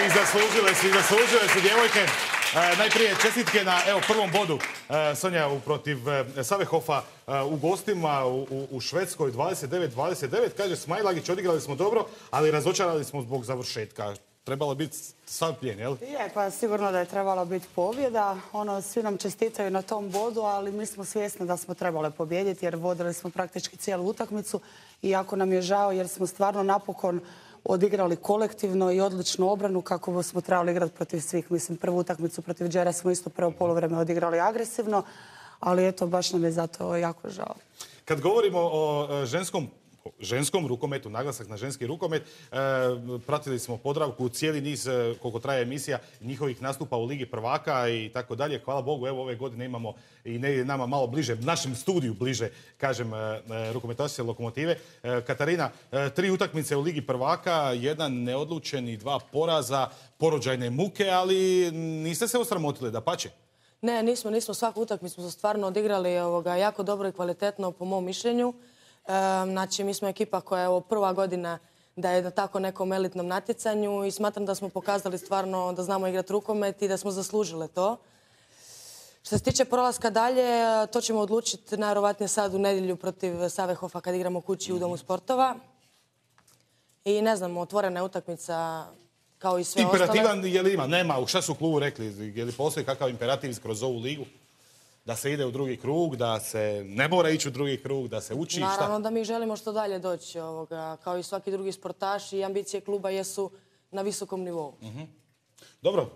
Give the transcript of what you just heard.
I zaslužile su djevojke. Najprije čestitke na prvom bodu Sonja protiv Savehofa u gostima u Švedskoj 29-29. Kaže Smajlagić, odigrali smo dobro, ali razočarali smo zbog završetka. Trebalo biti sav plijen, jel? Je, pa sigurno da je trebala biti pobjeda. Svi nam čestitaju na tom bodu, ali mi smo svjesni da smo trebali pobijediti jer vodili smo praktički cijelu utakmicu. I jako nam je žao jer smo stvarno napokon odigrali kolektivno i odličnu obranu kako smo trebali igrati protiv svih. Mislim, prvu utakmicu protiv Đera smo isto prvo poluvreme odigrali agresivno, ali eto, baš nam je zato jako žao. Kad govorimo o ženskom rukometu, naglasak na ženski rukomet, pratili smo Podravku cijeli niz, koliko traje emisija, njihovih nastupa u Ligi prvaka i tako dalje. Hvala Bogu, evo ove godine imamo i nama malo bliže, našem studiju bliže, kažem, rukometašice Lokomotive. Katarina, 3 utakmice u Ligi prvaka, 1 neodlučen i 2 poraza, porođajne muke, ali niste se osramotili, dapače? Ne, nismo. Svaku utakmicu smo stvarno odigrali jako dobro i kvalitetno, po mom mišljenju. Znači, mi smo ekipa koja je prva godina da je na tako nekom elitnom natjecanju i smatram da smo pokazali stvarno da znamo igrati rukomet i da smo zaslužile to. Što se tiče prolaska dalje, to ćemo odlučiti najvjerovatnije sad u nedjelju protiv Savehofa kad igramo kući u Domu sportova. I ne znam, otvorena je utakmica kao i sve ostale. Imperativan je li ima? Nema. Šta su u klubu rekli? Je li postoji kakav imperativ kroz ovu ligu? Da se ide u drugi krug, da se ne mora ići u drugi krug, da se uči? Naravno da mi želimo što dalje doći. Kao i svaki drugi sportaš i ambicije kluba jesu na visokom nivou. Dobro.